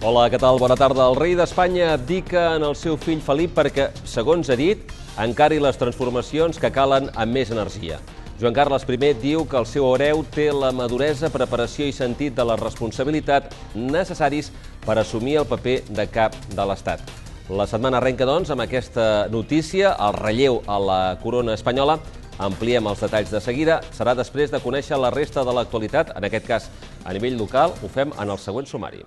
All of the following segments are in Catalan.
Hola, què tal? Bona tarda. El rei d'Espanya abdica en el seu fill Felip perquè, segons ha dit, encari les transformacions que calen amb més energia. Joan Carles I diu que el seu hereu té la maduresa, preparació i sentit de la responsabilitat necessaris per assumir el paper de cap de l'Estat. La setmana arrenca, doncs, amb aquesta notícia, el relleu a la corona espanyola. Ampliem els detalls de seguida. Serà després de conèixer la resta de l'actualitat, en aquest cas a nivell local. Ho fem en el següent sumari.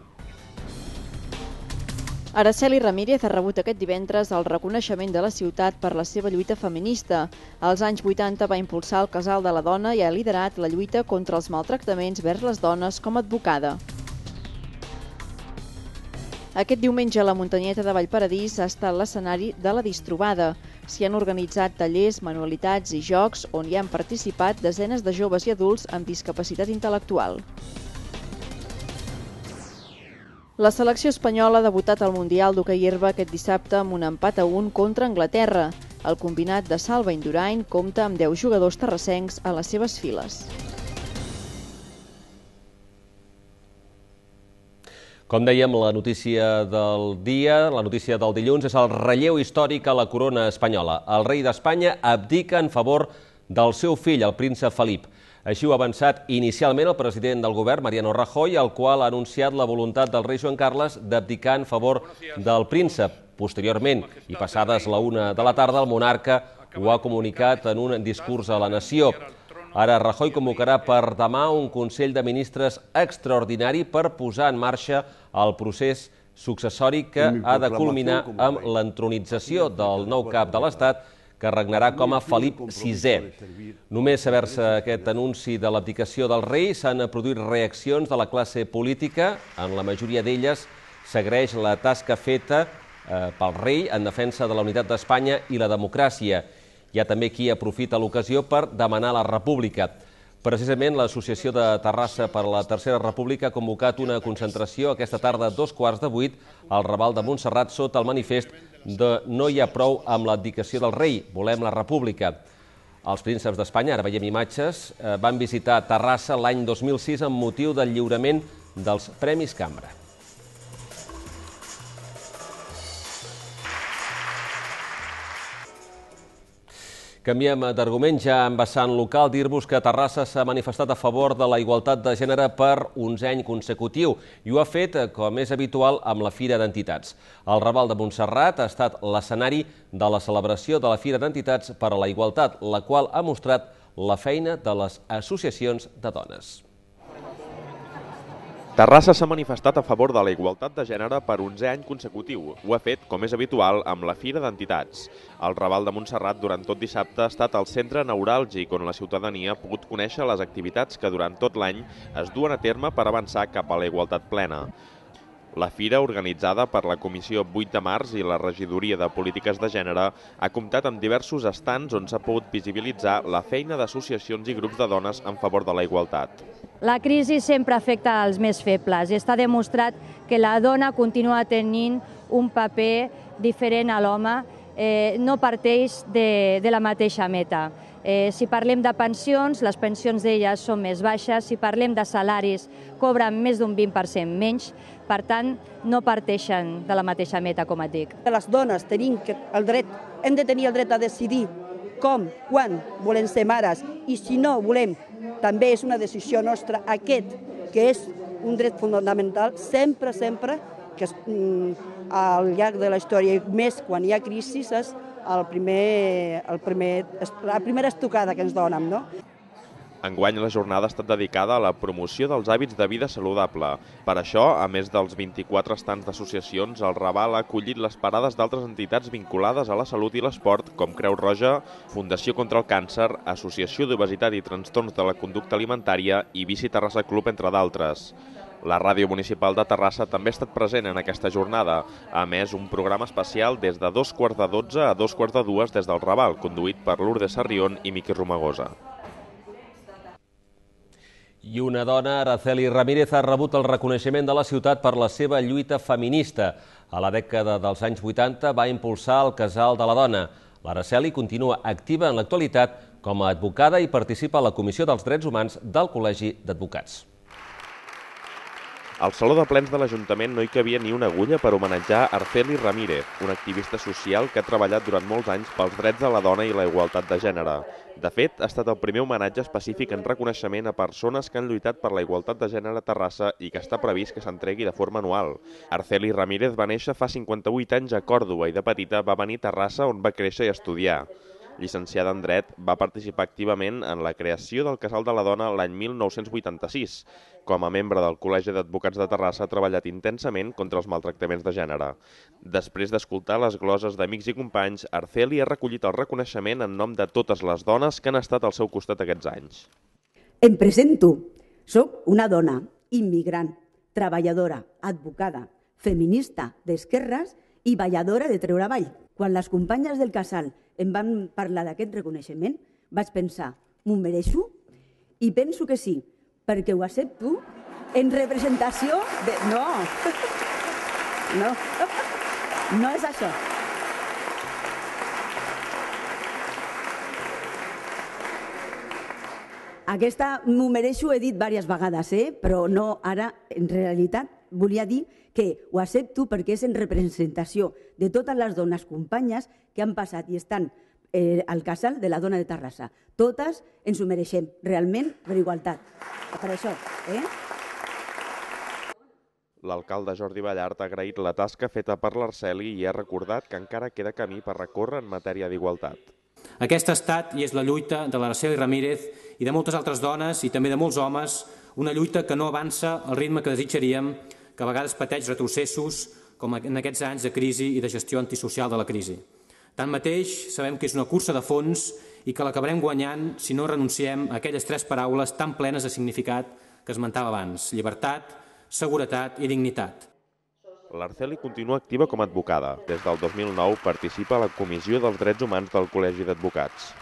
Araceli Ramírez ha rebut aquest divendres el reconeixement de la ciutat per la seva lluita feminista. Als anys 80 va impulsar el Casal de la Dona i ha liderat la lluita contra els maltractaments vers les dones com a advocada. Aquest diumenge la muntanyeta de Vallparadís ha estat l'escenari de la Distrobada. S'hi han organitzat tallers, manualitats i jocs on hi han participat desenes de joves i adults amb discapacitat intel·lectual. La selecció espanyola ha debutat al Mundial d'hoquei herba aquest dissabte amb un empat a 1 contra Anglaterra. El combinat de Salva Indurain compta amb 10 jugadors terrassencs a les seves files. Com dèiem, la notícia del dia, la notícia del dilluns, és el relleu històric a la corona espanyola. El rei d'Espanya abdica en favor del seu fill, el príncep Felip. Així ho ha avançat inicialment el president del govern, Mariano Rajoy, el qual ha anunciat la voluntat del rei Joan Carles d'abdicar en favor del príncep. Posteriorment, i passades la 1 de la tarda, el monarca ho ha comunicat en un discurs a la nació. Ara Rajoy convocarà per demà un Consell de Ministres extraordinari per posar en marxa el procés successori que ha de culminar amb l'entronització del nou cap de l'Estat, que regnarà com a Felip VI. Només saber-se aquest anunci de l'abdicació del rei s'han produït reaccions de la classe política. En la majoria d'elles s'agraeix la tasca feta pel rei en defensa de la unitat d'Espanya i la democràcia. Hi ha també qui aprofita l'ocasió per demanar la república. Precisament l'Associació de Terrassa per la Tercera República ha convocat una concentració aquesta tarda a 7:15 al Raval de Montserrat sota el manifest de "No hi ha prou amb l'abdicació del rei, volem la república". Els prínceps d'Espanya, ara veiem imatges, van visitar Terrassa l'any 2006 amb motiu del lliurament dels Premis Cambra. Canviem d'argument, ja en vessant local, dir-vos que Terrassa s'ha manifestat a favor de la igualtat de gènere per 11è any consecutiu i ho ha fet, com és habitual, amb la Fira d'Entitats. El Raval de Montserrat ha estat l'escenari de la celebració de la Fira d'Entitats per a la Igualtat, la qual ha mostrat la feina de les associacions de dones. Terrassa s'ha manifestat a favor de la igualtat de gènere per 11è any consecutiu. Ho ha fet, com és habitual, amb la Fira d'Entitats. El Raval de Montserrat durant tot dissabte ha estat el centre neuràlgic on la ciutadania ha pogut conèixer les activitats que durant tot l'any es duen a terme per avançar cap a la igualtat plena. La fira, organitzada per la Comissió 8 de març i la Regidoria de Polítiques de Gènere, ha comptat amb diversos estants on s'ha pogut visibilitzar la feina d'associacions i grups de dones en favor de la igualtat. La crisi sempre afecta als més febles i està demostrat que la dona continua tenint un paper diferent a l'home, no parteix de la mateixa meta. Si parlem de pensions, les pensions d'elles són més baixes. Si parlem de salaris, cobren més d'un 20% menys. Per tant, no parteixen de la mateixa meta, com et dic. Les dones hem de tenir el dret a decidir com, quan volem ser mares i si no volem, també és una decisió nostra aquest, que és un dret fonamental, sempre que al llarg de la història, i més quan hi ha crisi, és la primera estocada que ens donen, no? Enguany la jornada ha estat dedicada a la promoció dels hàbits de vida saludable. Per això, a més dels 24 estants d'associacions, el Raval ha acollit les parades d'altres entitats vinculades a la salut i l'esport, com Creu Roja, Fundació contra el Càncer, Associació d'Obesitat i Trastorns de la Conducta Alimentària i Bici Terrassa Club, entre d'altres. La Ràdio Municipal de Terrassa també ha estat present en aquesta jornada. A més, un programa especial des de 2:15 a 2:45 des del Raval, conduït per Lourdes Sarrión i Miqui Romagosa. I una dona, Araceli Ramírez, ha rebut el reconeixement de la ciutat per la seva lluita feminista. A la dècada dels anys 80 va impulsar el Casal de la Dona. L'Araceli continua activa en l'actualitat com a advocada i participa a la Comissió dels Drets Humans del Col·legi d'Advocats. Al Saló de Plens de l'Ajuntament no hi cabia ni una agulla per homenatjar Arceli Ramírez, una activista social que ha treballat durant molts anys pels drets de la dona i la igualtat de gènere. De fet, ha estat el primer homenatge específic en reconeixement a persones que han lluitat per la igualtat de gènere a Terrassa i que està previst que s'entregui de forma anual. Arceli Ramírez va néixer fa 58 anys a Còrdova i de petita va venir a Terrassa on va créixer i estudiar. Llicenciada en Dret, va participar activament en la creació del Casal de la Dona l'any 1986. Com a membre del Col·legi d'Advocats de Terrassa ha treballat intensament contra els maltractaments de gènere. Després d'escoltar les gloses d'amics i companys, Arceli ha recollit el reconeixement en nom de totes les dones que han estat al seu costat aquests anys. Em presento. Soc una dona immigrant, treballadora, advocada, feminista d'esquerres i balladora de treure avall. Quan les companyes del casal em van parlar d'aquest reconeixement, vaig pensar, m'ho mereixo? I penso que sí, perquè ho accepto en representació de... No és això. Aquesta m'ho mereixo, he dit diverses vegades, però no ara, en realitat, volia dir que ho accepto perquè és en representació de totes les dones companyes que han passat i estan al Casal de la Dona de Terrassa. Totes ens ho mereixem, realment, per igualtat. Per això, L'alcalde Jordi Ballart ha agraït la tasca feta per l'Arceli i ha recordat que encara queda camí per recórrer en matèria d'igualtat. Aquesta ha estat i és la lluita de l'Arceli Ramírez i de moltes altres dones i també de molts homes, una lluita que no avança al ritme que desitjaríem, que a vegades pateix retrocessos, com en aquests anys de crisi i de gestió antisocial de la crisi. Tanmateix, sabem que és una cursa de fons i que l'acabarem guanyant si no renunciem a aquelles 3 paraules tan plenes de significat que esmentava abans: llibertat, seguretat i dignitat. L'Arceli continua activa com a advocada. Des del 2009 participa a la Comissió dels Drets Humans del Col·legi d'Advocats.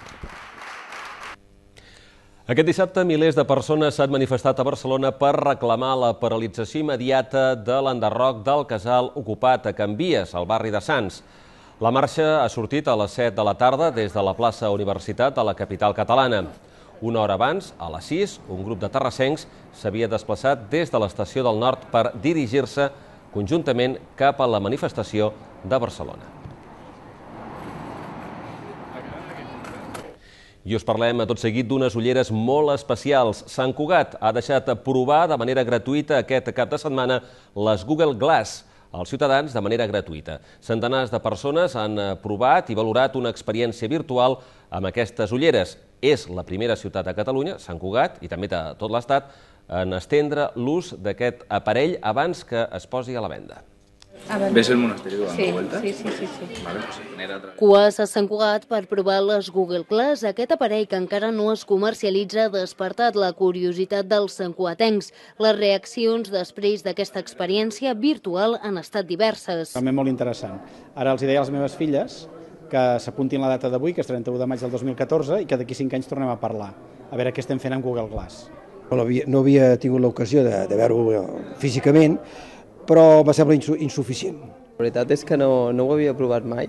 Aquest dissabte, milers de persones s'han manifestat a Barcelona per reclamar la paralització immediata de l'enderroc del casal ocupat a Can Vies, al barri de Sants. La marxa ha sortit a les 7 de la tarda des de la plaça Universitat a la capital catalana. Una hora abans, a les 6, un grup de terrassencs s'havia desplaçat des de l'estació del Nord per dirigir-se conjuntament cap a la manifestació de Barcelona. I us parlem a tot seguit d'unes ulleres molt especials. Sant Cugat ha deixat provar de manera gratuïta aquest cap de setmana les Google Glass als ciutadans de manera gratuïta. Centenars de persones han provat i valorat una experiència virtual amb aquestes ulleres. És la primera ciutat a Catalunya, Sant Cugat, i també de tot l'Estat, en estendre l'ús d'aquest aparell abans que es posi a la venda. ¿Ves el monasterio dando vueltas? Sí. Vale, pues genera otra vez. Cues a Sant Cugat per provar les Google Glass. Aquest aparell que encara no es comercialitza ha despertat la curiositat dels santcugatencs. Les reaccions després d'aquesta experiència virtual han estat diverses. També molt interessant. Ara els deia a les meves filles que s'apuntin la data d'avui, que és 31 de maig del 2014, i que d'aquí 5 anys tornem a parlar, a veure què estem fent amb Google Glass. No havia tingut l'ocasió de veure-ho físicament, però me sembla insuficient. La veritat és que no ho havia provat mai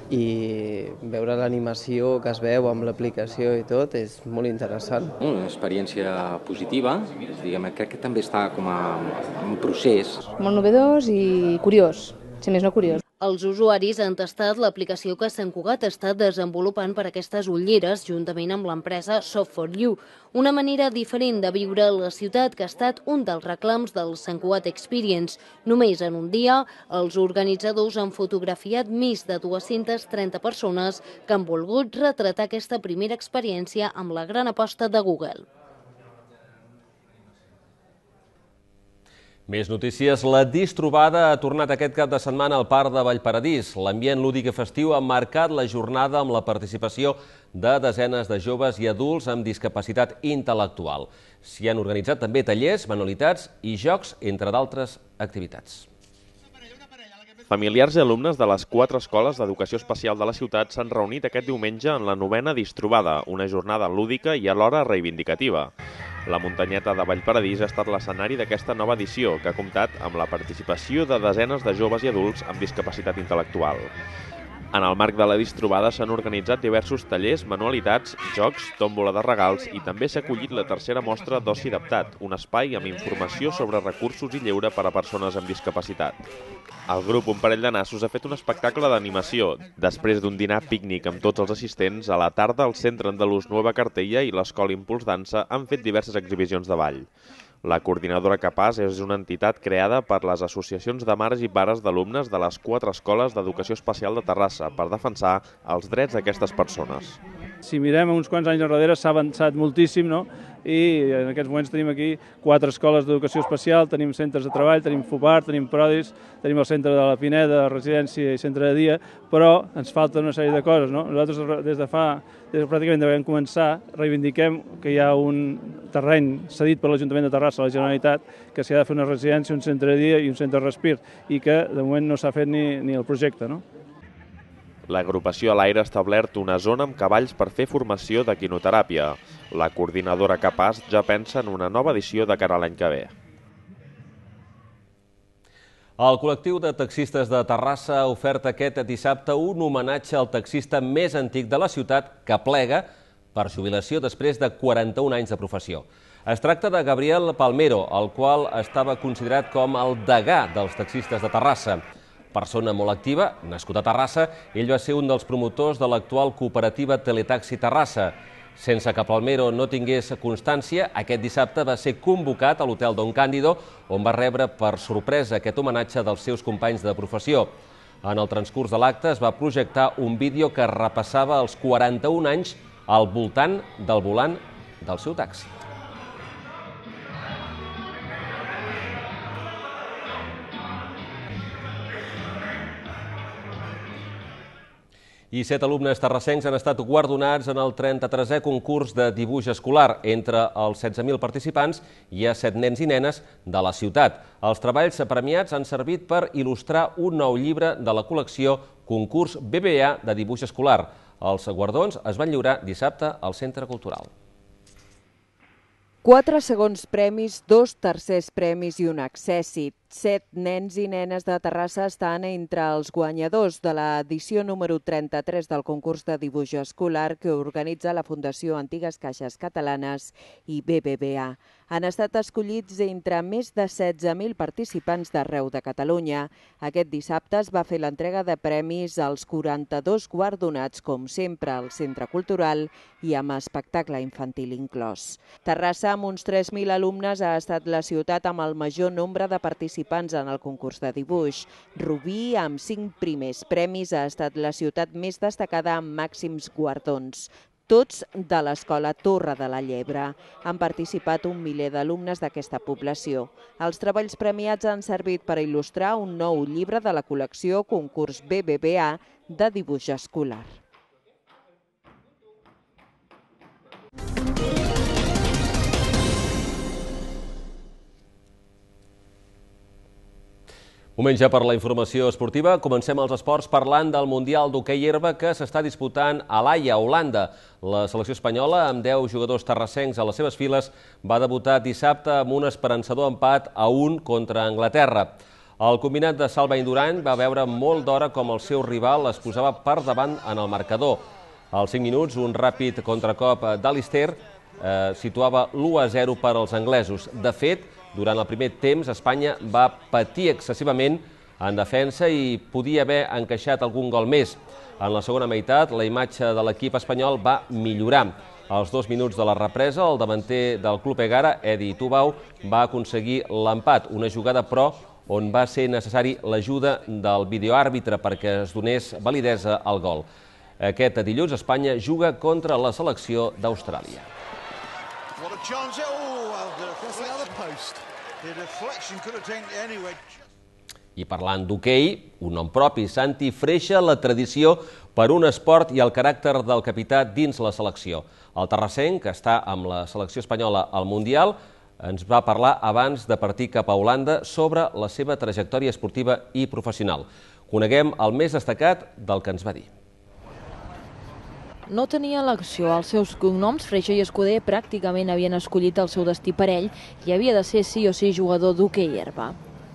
i veure l'animació que es veu amb l'aplicació i tot és molt interessant. Una experiència positiva, diguem, crec que també està com a un procés. Molt novedós i curiós, si més no curiós. Els usuaris han tastat l'aplicació que Sant Cugat està desenvolupant per aquestes ulleres juntament amb l'empresa Soft4U, una manera diferent de viure la ciutat que ha estat un dels reclams del Sant Cugat Experience. Només en un dia, els organitzadors han fotografiat més de 230 persones que han volgut retratar aquesta primera experiència amb la gran aposta de Google. Més notícies. La Distrobada ha tornat aquest cap de setmana al Parc de Vallparadís. L'ambient lúdic i festiu ha marcat la jornada amb la participació de desenes de joves i adults amb discapacitat intel·lectual. S'hi han organitzat també tallers, manualitats i jocs, entre d'altres activitats. Familiars i alumnes de les 4 escoles d'educació especial de la ciutat s'han reunit aquest diumenge en la 9a Distrobada, una jornada lúdica i alhora reivindicativa. La muntanyeta de Vallparadís ha estat l'escenari d'aquesta nova edició, que ha comptat amb la participació de desenes de joves i adults amb discapacitat intel·lectual. En el marc de la distrobada s'han organitzat diversos tallers, manualitats, jocs, tòmbola de regals i també s'ha acollit la tercera mostra d'Oci Adaptat, un espai amb informació sobre recursos i lleure per a persones amb discapacitat. El grup Un parell de nassos ha fet un espectacle d'animació. Després d'un dinar pícnic amb tots els assistents, a la tarda el Centre Andalús Nueva Cartella i l'Escola Impuls Dansa han fet diverses exhibicions de ball. La Coordinadora Capaç és una entitat creada per les associacions de mares i pares d'alumnes de les 4 escoles d'educació especial de Terrassa per defensar els drets d'aquestes persones. Si mirem uns quants anys enrere s'ha avançat moltíssim, no? I en aquests moments tenim aquí 4 escoles d'educació especial, tenim centres de treball, tenim FUPAR, tenim Prodis, tenim el centre de la Pineda, residència i centre de dia, però ens falta una sèrie de coses, no? Nosaltres des de pràcticament vam començar, reivindiquem que hi ha un terreny cedit per l'Ajuntament de Terrassa a la Generalitat, que s'hi ha de fer una residència, un centre de dia i un centre de respir, i que de moment no s'ha fet ni el projecte, no? L'agrupació a l'Aire ha establert una zona amb cavalls per fer formació de quinoteràpia. La Coordinadora Capaç ja pensa en una nova edició de cara a l'any que ve. El col·lectiu de taxistes de Terrassa ha ofert aquest dissabte un homenatge al taxista més antic de la ciutat que plega per jubilació després de 41 anys de professió. Es tracta de Gabriel Palmero, el qual estava considerat com el degà dels taxistes de Terrassa. Persona molt activa, nascut a Terrassa, ell va ser un dels promotors de l'actual cooperativa Teletaxi Terrassa. Sense que Palmero no tingués constància, aquest dissabte va ser convocat a l'hotel Don Cándido, on va rebre per sorpresa aquest homenatge dels seus companys de professió. En el transcurs de l'acte es va projectar un vídeo que repassava els 41 anys al voltant del volant del seu taxi. I 7 alumnes terrassencs han estat guardonats en el 33è concurs de dibuix escolar. Entre els 16.000 participants hi ha 7 nens i nenes de la ciutat. Els treballs premiats han servit per il·lustrar un nou llibre de la col·lecció Concurs BBVA de dibuix escolar. Els guardons es van lliurar dissabte al Centre Cultural. 4 segons premis, 2 tercers premis i un accèssit. 7 nens i nenes de Terrassa estan entre els guanyadors de l'edició número 33 del concurs de dibuix escolar que organitza la Fundació Antigues Caixes Catalanes i BBVA. Han estat escollits entre més de 16.000 participants d'arreu de Catalunya. Aquest dissabte es va fer l'entrega de premis als 42 guardonats, com sempre, al Centre Cultural i amb espectacle infantil inclòs. Terrassa, amb uns 3.000 alumnes, ha estat la ciutat amb el major nombre de participants en el concurs de dibuix. Rubí, amb 5 primers premis, ha estat la ciutat més destacada amb màxims guardons, tots de l'Escola Torre de la Llebre. Han participat un miler d'alumnes d'aquesta població. Els treballs premiats han servit per il·lustrar un nou llibre de la col·lecció Concurs BBVA de dibuix escolar. Moment ja per la informació esportiva. Comencem els esports parlant del Mundial d'hoquei herba que s'està disputant a l'Haia, Holanda. La selecció espanyola, amb 10 jugadors terrassencs a les seves files, va debutar dissabte amb un esperançador empat a 1 contra Anglaterra. El combinat de Salva Indurant va veure molt d'hora com el seu rival es posava per davant en el marcador. Als 5 minuts, un ràpid contracop d'Alister situava l'1-0 per als anglesos. De fet, durant el primer temps, Espanya va patir excessivament en defensa i podia haver encaixat algun gol més. En la segona meitat, la imatge de l'equip espanyol va millorar. Als 2 minuts de la represa, el davanter del Club Egara, Edi Tubau, va aconseguir l'empat, una jugada, però, on va ser necessari l'ajuda del videoàrbitre perquè es donés validesa al gol. Aquest dilluns, Espanya juga contra la selecció d'Austràlia. I parlant d'hoquei, un nom propi, Santi Freixa, la tradició per un esport i el caràcter del capità dins la selecció. El terrassenc, que està amb la selecció espanyola al Mundial, ens va parlar abans de partir cap a Holanda sobre la seva trajectòria esportiva i professional. Coneguem el més destacat del que ens va dir. No tenia elecció. Els seus cognoms, Freixa i Escuder, pràcticament havien escollit el seu destí per ell i havia de ser sí o sí jugador d'hoquei herba.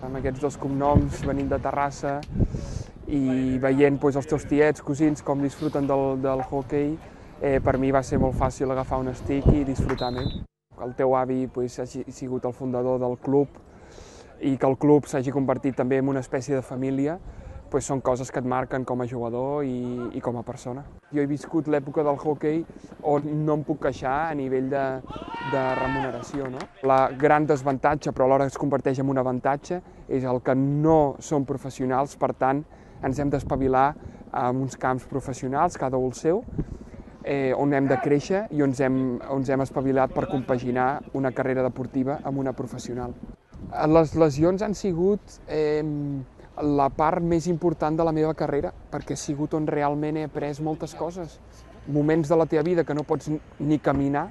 Amb aquests 2 cognoms venim de Terrassa i veient els teus tiets, cosins, com disfruten del hoquei, per mi va ser molt fàcil agafar un stick i disfrutar amb ell. El teu avi hagi sigut el fundador del club i que el club s'hagi convertit també en una espècie de família, són coses que et marquen com a jugador i com a persona. Jo he viscut l'època del hoquei on no em puc queixar a nivell de remuneració. La gran desavantatge, però alhora es converteix en un avantatge, és el que no som professionals, per tant, ens hem d'espavilar en uns camps professionals, cada un el seu, on hem de créixer i on ens hem espavilat per compaginar una carrera deportiva amb una professional. Les lesions han sigut la part més important de la meva carrera, perquè ha sigut on realment he après moltes coses. Moments de la teva vida que no pots ni caminar,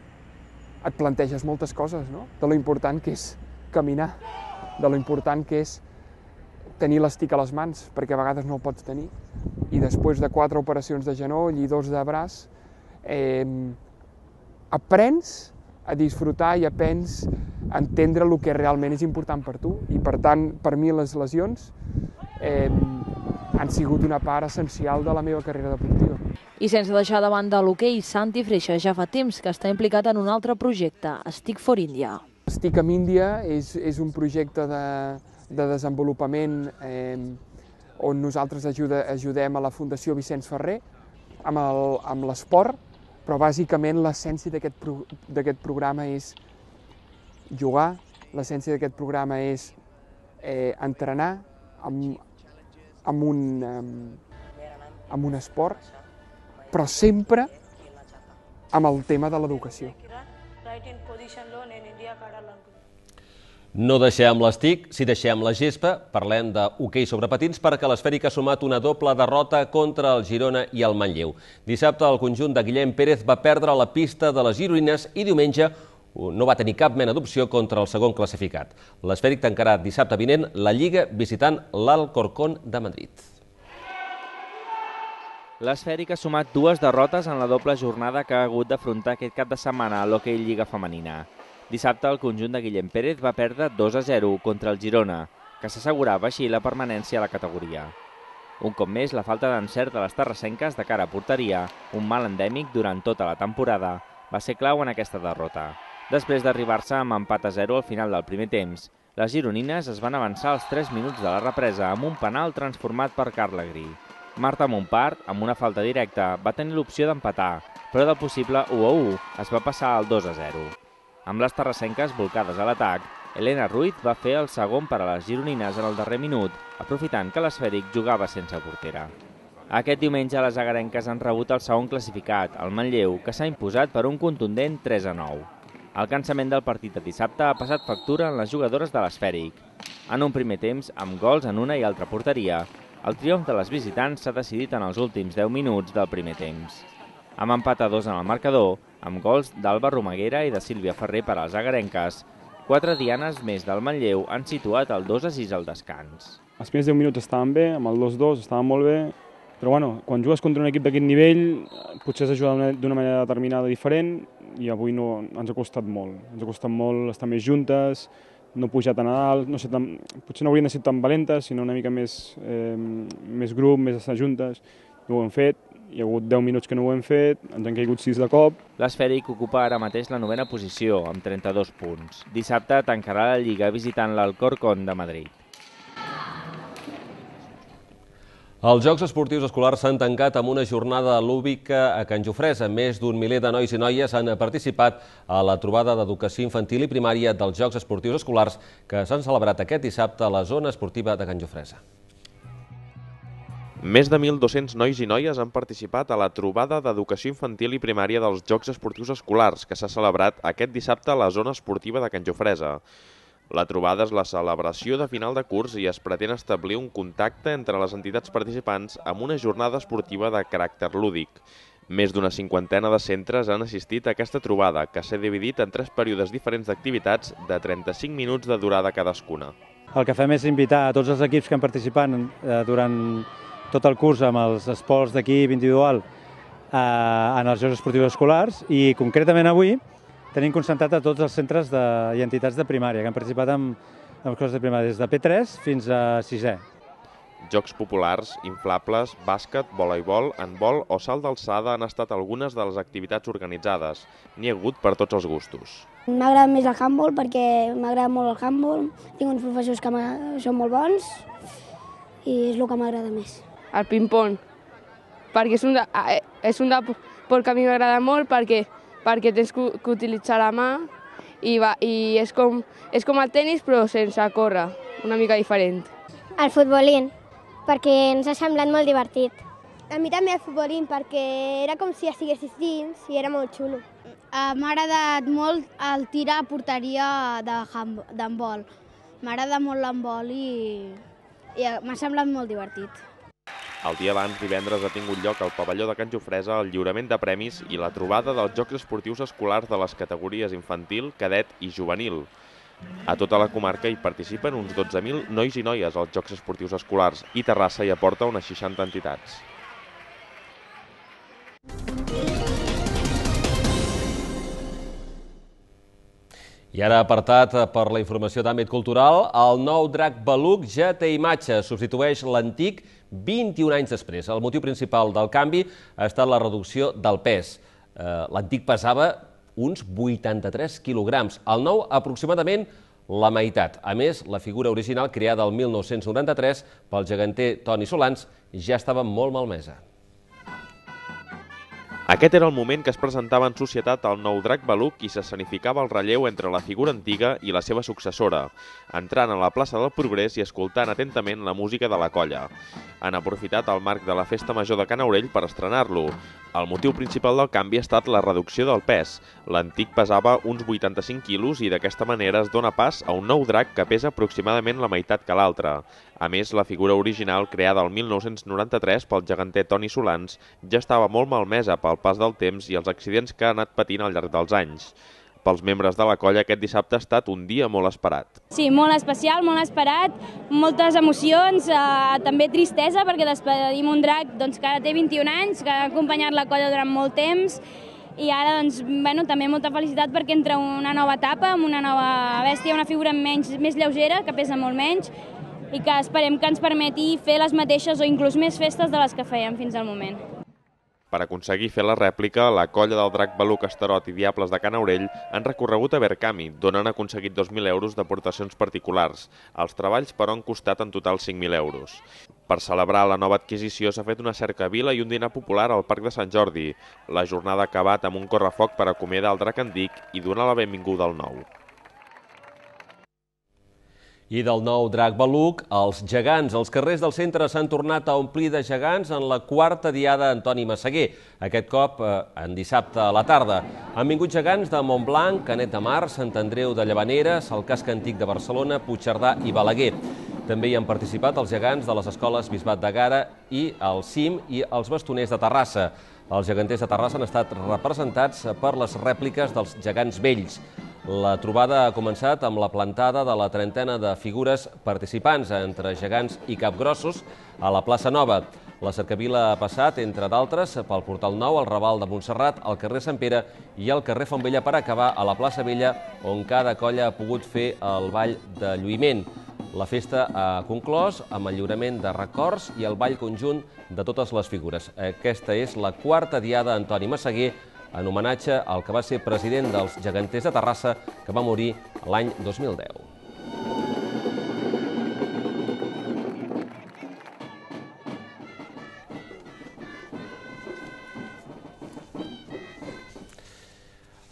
et planteges moltes coses, no? De lo important que és caminar, de lo important que és tenir l'estic a les mans, perquè a vegades no el pots tenir. I després de 4 operacions de genoll i 2 de braç, aprens a disfrutar i aprens a entendre el que realment és important per tu. I per tant, per mi les lesions han sigut una part essencial de la meva carrera deportiva. I sense deixar de banda l'hoquei, Santi Freixa ja fa temps que està implicat en un altre projecte, Stick for India. Stick amb Índia és un projecte de desenvolupament on nosaltres ajudem a la Fundació Vicenç Ferrer amb l'esport, però bàsicament l'essència d'aquest programa és jugar, l'essència d'aquest programa és entrenar amb un esport, però sempre amb el tema de l'educació. No deixem l'estic, si deixem la gespa, parlem d'hoquei sobre patins perquè l'Esfèric ha sumat una doble derrota contra el Girona i el Manlleu. Dissabte el conjunt de Guillem Pérez va perdre la pista de les gironines i diumenge no va tenir cap mena d'opció contra el segon classificat. L'Esfèric tancarà dissabte vinent la Lliga visitant l'Alcorcón de Madrid. L'Esfèric ha sumat 2 derrotes en la doble jornada que ha hagut d'afrontar aquest cap de setmana a l'hoquei Lliga Femenina. Dissabte el conjunt de Guillem Pérez va perdre 2-0 contra el Girona, que s'assegurava així la permanència a la categoria. Un cop més, la falta d'encert de les terrassenques de cara a porteria, un mal endèmic durant tota la temporada, va ser clau en aquesta derrota. Després d'arribar-se amb empat a 0 al final del primer temps, les gironines es van avançar als 3 minuts de la represa amb un penal transformat per Carla Gri. Marta Montpart, amb una falta directa, va tenir l'opció d'empatar, però del possible 1-1 es va passar al 2-0. Amb les terrassenques volcades a l'atac, Elena Ruiz va fer el segon per a les gironines en el darrer minut, aprofitant que l'Esfèric jugava sense portera. Aquest diumenge les agarenques han rebut el segon classificat, el Manlleu, que s'ha imposat per un contundent 3-9. El cansament del partit de dissabte ha passat factura en les jugadores de l'Esfèric. En un primer temps, amb gols en una i altra porteria, el triomf de les visitants s'ha decidit en els últims 10 minuts del primer temps. Amb empat a 2 en el marcador, amb gols d'Alba Romaguera i de Sílvia Ferrer per als agarenques, 4 dianes més del Manlleu han situat el 2-6 al descans. Els primers 10 minuts estaven bé, amb el 2-2 estaven molt bé, però quan jugues contra un equip d'aquest nivell potser has de jugar d'una manera determinada diferent i avui ens ha costat molt. Ens ha costat molt estar més juntes, no pujar tan a dalt, potser no haurien de ser tan valentes, sinó una mica més grup, més estar juntes. No ho hem fet, hi ha hagut 10 minuts que no ho hem fet, ens han caigut 6 de cop. L'Esfèric ocupa ara mateix la 9ª posició, amb 32 punts. Dissabte tancarà la Lliga visitant l'Alcorcón de Madrid. Els Jocs Esportius Escolars s'han tancat amb una jornada lúdica a Can Jofresa. Més d'un miler de nois i noies han participat a la trobada d'educació infantil i primària dels Jocs Esportius Escolars que s'han celebrat aquest dissabte a la zona esportiva de Can Jofresa. Més de 1.200 nois i noies han participat a la trobada d'educació infantil i primària dels Jocs Esportius Escolars que s'ha celebrat aquest dissabte a la zona esportiva de Can Jofresa. La trobada és la celebració de final de curs i es pretén establir un contacte entre les entitats participants amb una jornada esportiva de caràcter lúdic. Més d'una 50ena de centres han assistit a aquesta trobada, que s'ha dividit en 3 períodes diferents d'activitats de 35 minuts de durada cadascuna. El que fem és invitar a tots els equips que han participat durant tot el curs amb els esports d'equip individual en els Jocs Esportius Escolars i concretament avui tenim concentrat a tots els centres i entitats de primària que han participat en coses de primària des de P3 fins a 6è. Jocs populars, inflables, bàsquet, voleibol, handbol o salt d'alçada han estat algunes de les activitats organitzades. N'hi ha hagut per tots els gustos. M'agrada més el handbol perquè m'agrada molt el handbol, tinc uns professors que són molt bons i és el que m'agrada més. El ping-pong, perquè és un esport que a mi m'agrada molt perquè tens que utilitzar la mà i és com el tenis però sense córrer, una mica diferent. El futbolín, perquè ens ha semblat molt divertit. A mi també el futbolín, perquè era com si estiguessis dins i era molt xulo. M'ha agradat molt el tir a porteria d'handbol. M'agrada molt l'handbol i m'ha semblat molt divertit. El dia abans, divendres, ha tingut lloc al pavelló de Can Jofresa el lliurament de premis i la trobada dels Jocs Esportius Escolars de les categories infantil, cadet i juvenil. A tota la comarca hi participen uns 12.000 nois i noies als Jocs Esportius Escolars i Terrassa hi aporta unes 60 entitats. I ara, apartat per la informació d'àmbit cultural, el nou drac Beluc ja té imatge, substitueix l'antic 21 anys després. El motiu principal del canvi ha estat la reducció del pes. L'antic pesava uns 83 quilograms, el nou aproximadament la meitat. A més, la figura original creada el 1993 pel geganter Toni Solans ja estava molt malmesa. Aquest era el moment que es presentava en societat el nou drac Beluc i s'escenificava el relleu entre la figura antiga i la seva successora, entrant a la plaça del Progrés i escoltant atentament la música de la colla. Han aprofitat el marc de la Festa Major de Can Aurell per estrenar-lo. El motiu principal del canvi ha estat la reducció del pes. L'antic pesava uns 85 quilos i d'aquesta manera es dona pas a un nou drac que pesa aproximadament la meitat que l'altre. A més, la figura original, creada el 1993 pel geganter Toni Solans, ja estava molt malmesa pel pas del temps i els accidents que ha anat patint al llarg dels anys. Pels membres de la colla, aquest dissabte ha estat un dia molt esperat. Sí, molt especial, molt esperat, moltes emocions, també tristesa, perquè despedim un drac que ara té 21 anys, que ha acompanyat la colla durant molt temps, i ara també molta felicitat perquè entra una nova etapa, amb una nova bèstia, una figura més lleugera, que pesa molt menys, i que esperem que ens permeti fer les mateixes o inclús més festes de les que fèiem fins al moment. Per aconseguir fer la rèplica, la colla del drac Beluc, Estarot i Diables de Can Aurell han recorregut a Verkami, d'on han aconseguit 2.000 euros d'aportacions particulars. Els treballs, però, han costat en total 5.000 euros. Per celebrar la nova adquisició s'ha fet una cercavila i un dinar popular al Parc de Sant Jordi. La jornada ha acabat amb un correfoc per acomiadar el drac antic i donar la benvinguda al nou. I del nou drac Beluc, els gegants. Els carrers del centre s'han tornat a omplir de gegants en la quarta diada Antoni Massaguer, aquest cop en dissabte a la tarda. Han vingut gegants de Montblanc, Canet de Mar, Sant Andreu de Llavaneres, el Casc Antic de Barcelona, Puigcerdà i Balaguer. També hi han participat els gegants de les escoles Bisbat de Gara i el CIM i els bastoners de Terrassa. Els geganters de Terrassa han estat representats per les rèpliques dels gegants vells. La trobada ha començat amb la plantada de la trentena de figures participants entre gegants i capgrossos a la plaça Nova. La cercavila ha passat, entre d'altres, pel Portal Nou, el Raval de Montserrat, el carrer Sant Pere i el carrer Font Vella per acabar a la plaça Vella, on cada colla ha pogut fer el ball de lluïment. La festa ha conclòs amb el lliurament de records i el ball conjunt de totes les figures. Aquesta és la quarta diada Antoni Massaguer, en homenatge al que va ser president dels geganters de Terrassa, que va morir l'any 2010.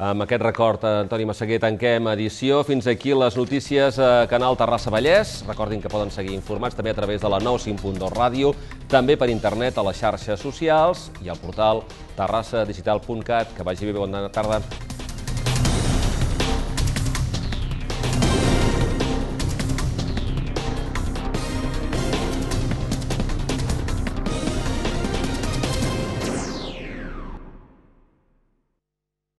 Amb aquest record, Antoni Massaguer, tanquem edició. Fins aquí les notícies a Canal Terrassa Vallès. Recordin que poden seguir informats també a través de la 95.2 ràdio, també per internet a les xarxes socials i al portal terrassadigital.cat. Que vagi bé, bona tarda.